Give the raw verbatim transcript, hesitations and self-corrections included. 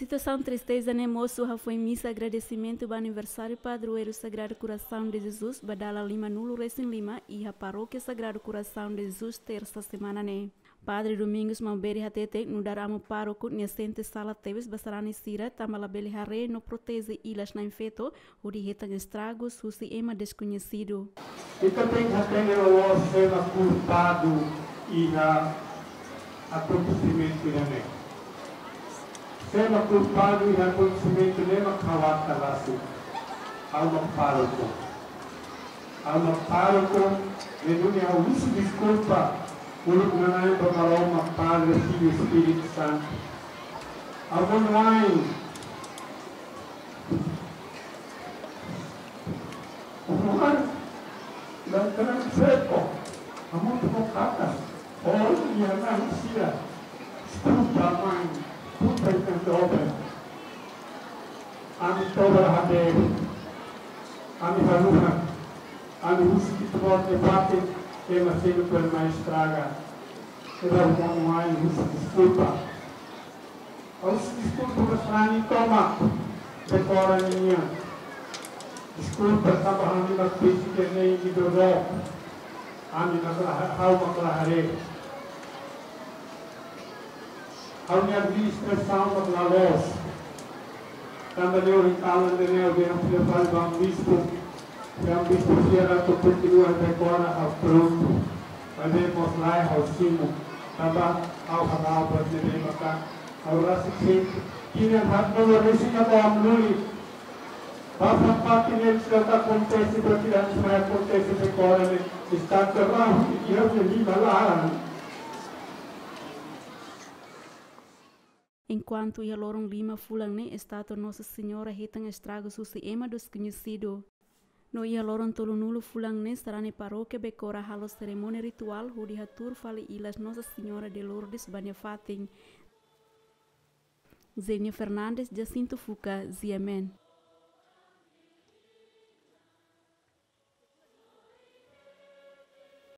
Situasaun tristeza ne'e mosu hafoin misa agradesimentu ba aniversáriu padroeiru Sagrado Coração de Jesus ba dala lima-nulu resin lima iha Parókia Sagrado Coração de Jesus, tersa semana ne'e. Padre Domingos Maubere hateten nu'udar amu pároku nia sente sala tebes ba sarani sira tanba labele haree no proteje ilas na'in-feto hodi hetan estragus husi ema deskoñesidu. Ita tenke hatene loloos sé mak kulpadu iha akontesimentu ida-ne'e. Sé mak kulpadu iha akontesimentu ne'e mak ha'u ata rasik. Ha'u mak pároku. Ha'u mak pároku, ne'e duni ha'u husu deskulpa uluk nanain ba Maromak, Padre, Filho, Espíritu Santu. Ha'u monu-ain Juan, dan terang seco, amun tu kata, oh, ia nan sia, deskulpa, mãe, deskulpa, então, ami toba hadeer, ami haluha, ami husu ki'ik-oan nia fatin, ema seluk mak estraga, ema monu-ain husu deskulpa. Ha'u husu deskulpa ba sarani tomak, Bekora nian. Deskulpa tanba ami mak besik ne'e imi dodok. Ami mak la, ha'u mak la haree. Ha'u-nia administrasaun mak la loos. Tanba ne'e ohin kalan ne'e ha'u dehan fila fali ba amu bispu. Amu bispu sira atu kontinua Bekora, ha'u prontu. Maibé mós lae ha'u simu. Tanba ha'u hala'o buat ne'ebé maka ha'u rasik sente. Tinan haat-nulu resin ha'u amu luli. Ba fatin ne'e sira atu akontese, buat ida-ne'e mai akontese Bekora ne'e. Estátua rahun iha ha'u-nia liman laran. Enkuantu iha loron lima fulan ne'e estátua Nossa Senhora hetan estragus husi ema deskoñesidu. No iha loron tolu-nulu fulan ne'e sarani parókia Bekora halo serimónia rituál hodi hatuur fali ilas Nossa Senhora de Lourdes ba nia fatin. Zenia Fernandes, Jacinto Fuca, G M N.